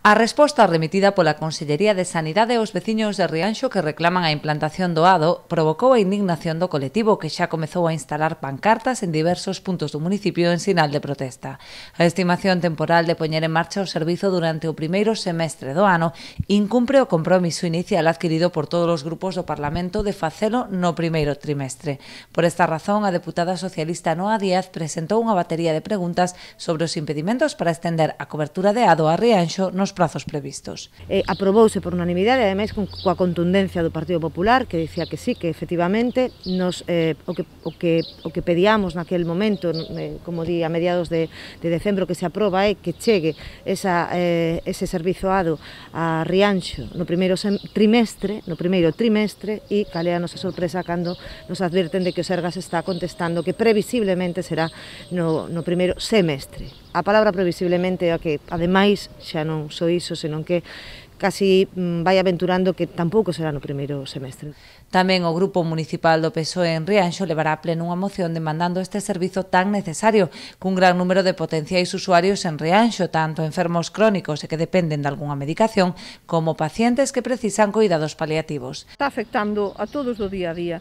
A resposta remitida pola Consellería de Sanidade aos veciños de Rianxo que reclaman a implantación do ADO provocou a indignación do colectivo que xa comezou a instalar pancartas en diversos puntos do municipio en sinal de protesta. A estimación temporal de poñer en marcha o servizo durante o primeiro semestre do ano incumpre o compromiso inicial adquirido por todos os grupos do Parlamento de facelo no primeiro trimestre. Por esta razón, a deputada socialista Noa Díaz presentou unha batería de preguntas sobre os impedimentos para estender a cobertura de ADO a Rianxo nos prazos previstos. Aprobouse por unanimidade, ademais coa contundencia do Partido Popular, que dicía que sí, que efectivamente o que pedíamos naquel momento, como di a mediados de decembro que se aproba, é que chegue ese servizo ADO a Rianxo no primeiro trimestre e cal é a nosa sorpresa cando nos advirten de que o Sergas está contestando que previsiblemente será no primeiro semestre. A palabra previsiblemente é a que, ademais, xa non só iso, senón que casi vai aventurando que tampouco será no primeiro semestre. Tamén o Grupo Municipal do PSOE en Rianxo levará a pleno unha moción demandando este servizo tan necesario, cun gran número de potenciais usuarios en Rianxo, tanto enfermos crónicos e que dependen de algunha medicación, como pacientes que precisan cuidados paliativos. Está afectando a todos do día a día.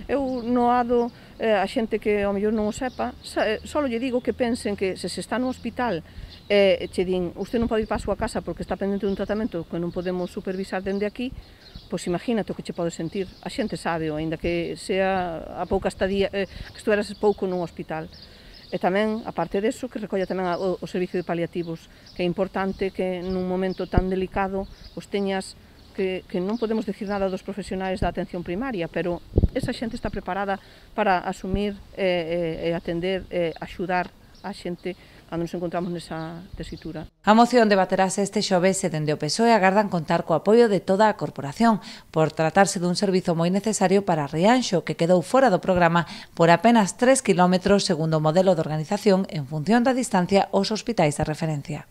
Eu no ADO, a xente que ao mellor non o sepa, só lle digo que pensen que se está no hospital che din, usted non pode ir para a súa casa porque está pendente dun tratamento que non podemos supervisar dende aquí, pois imagínate o que che pode sentir. A xente sabe, aínda que sea a pouca estadía, que estuveras pouco nun hospital. E tamén, aparte deso, que recolla tamén o servicio de paliativos, que é importante que nun momento tan delicado os teñas que non podemos decir nada dos profesionais da atención primaria, pero esa xente está preparada para asumir e atender e axudar a xente cando nos encontramos nesa tesitura. A moción debaterase este xoves e dende o PSOE agardan contar co apoio de toda a corporación por tratarse dun servizo moi necesario para Rianxo, que quedou fora do programa por apenas 3 km segundo o modelo de organización en función da distancia aos hospitais de referencia.